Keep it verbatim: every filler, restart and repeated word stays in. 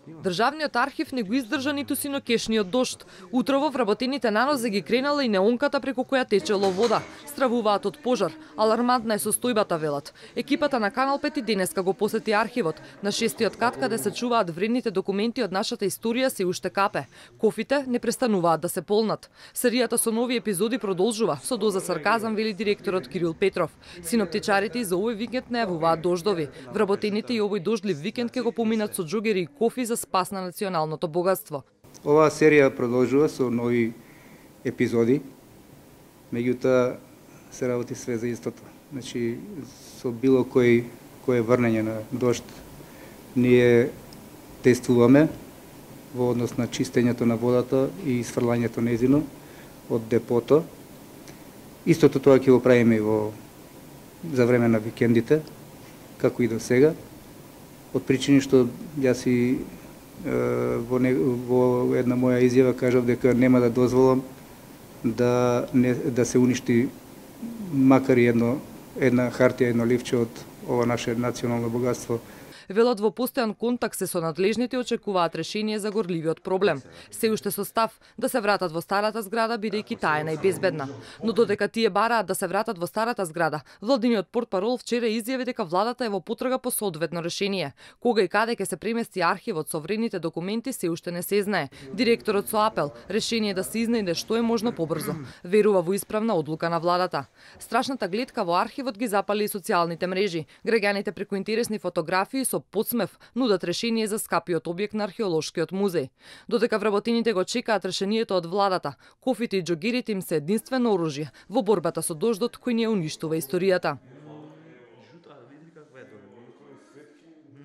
Државниот архив не го издржа ниту синокешниот дожд. Утрово вработените на нозе ги кренала и неонката преку која течело вода. Стравуваат од пожар. Алармантна е состојбата, велат. Екипата на Канал пет и денеска го посети архивот. На шестиот кат, каде се чуваат вредните документи од нашата историја, се уште капе. Кофите не престануваат да се полнат. Серијата со нови епизоди продолжува. Со доза сарказам, вели директорот Кирил Петров. Синоптичарите и за овој викенд најавуваат дождови. Вработените и овој дождлив викенд ќе го поминат со џогери и кофи за спас на националното богатство. Оваа серија продолжува со нови епизоди, меѓутоа се работи све за истото. Значи, со било кој кое врнење на дожд, ние тестуваме во однос на чистењето на водата и сфрлањето незино од депото. Истото тоа ќе го правиме и во за време на викендите, како и до сега, од причини што јас и Во, не, во една моја изјава кажав дека нема да дозволам да, не, да се уништи макар и едно, една хартија, едно ливче од ова наше национално богатство. Велат во постојан контакт се со надлежните очекуваат решение за горливиот проблем. Се уште со став да се вратат во старата зграда, бидејќи таа е најбезбедна. Но додека тие бараат да се вратат во старата зграда, владиниот портпарол вчера изјави дека владата е во потрага по соодветно решение. Кога и каде ќе се премести архивот со вредните документи се уште не се знае. Директорот со апел решение да се изнајде што е можно побрзо. Верува во исправна одлука на владата. Страшната гледка во архивот ги запали и социјалните мрежи. Граѓаните преку интересни фотографии со подсмев нудат решение за скапиот објект на археолошкиот музеј. Додека вработените го чекаат решението од владата, кофите и џогерите им се единствено оружје во борбата со дождот кој ни ја уништува историјата.